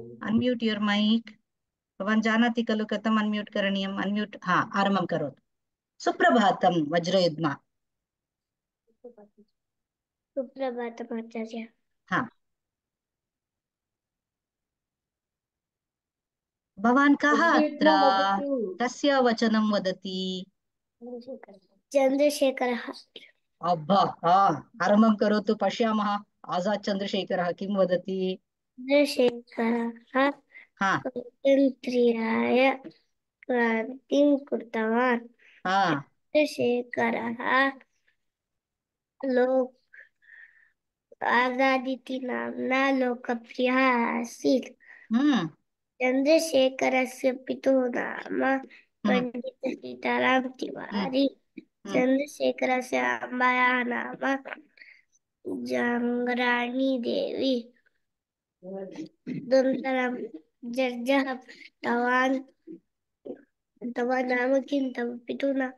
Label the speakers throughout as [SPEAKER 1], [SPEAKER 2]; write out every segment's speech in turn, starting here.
[SPEAKER 1] Unmute your mic. भवान् जानाति खलु कथम् अन्म्यूट् करणीयम्? अन्म्यूट्, हा, आरम्भं करोतु. सुप्रभातं वज्रयुग्मा.
[SPEAKER 2] सुप्रभातम् आचार्य.
[SPEAKER 1] हा, भवान् कः अत्र? कस्य वचनं वदति?
[SPEAKER 2] चन्द्रशेखरः.
[SPEAKER 1] अब्बा, हा, आरम्भं करोतु, पश्यामः. आजाद् चन्द्रशेखरः किं वदति?
[SPEAKER 2] चन्द्रशेखरः
[SPEAKER 1] हा,
[SPEAKER 2] स्वातन्त्र्याय क्रान्तिं कृतवान्.
[SPEAKER 1] हा,
[SPEAKER 2] चन्द्रशेखरः लोक आजादीति नाम्ना लोकप्रियः आसीत्. चन्द्रशेखरस्य पितुः नाम पण्डित सीताराम तिवारी. चन्द्रशेखरस्य अम्बायाः नाम जङ्गराणी देवी. अनन्तरं जर्जः तव नाम किं? तव पितुः नाम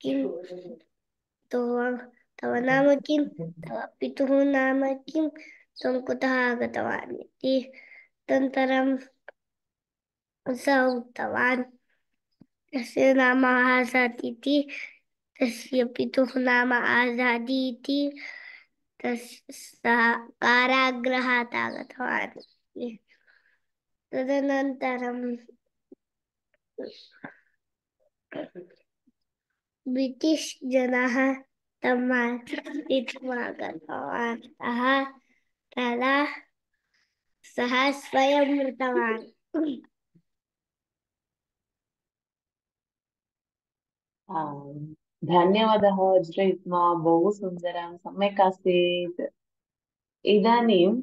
[SPEAKER 2] किं? तव नाम किं? तव पितुः नाम किं? त्वं कुतः आगतवान् इति. अनन्तरं सः उक्तवान् तस्य नाम आज़ाद् इति, तस्य पितुः नाम आज़ादी इति. सः कारागृहात् आगतवान्. तदनन्तरं ब्रिटिश् जनाः तं मारित्वा गतवन्तः. तदा सः स्वयं मृतवान्.
[SPEAKER 3] धन्यवादः वज्रयुग्मा, बहु सुन्दरं, सम्यक् आसीत्. इदानीं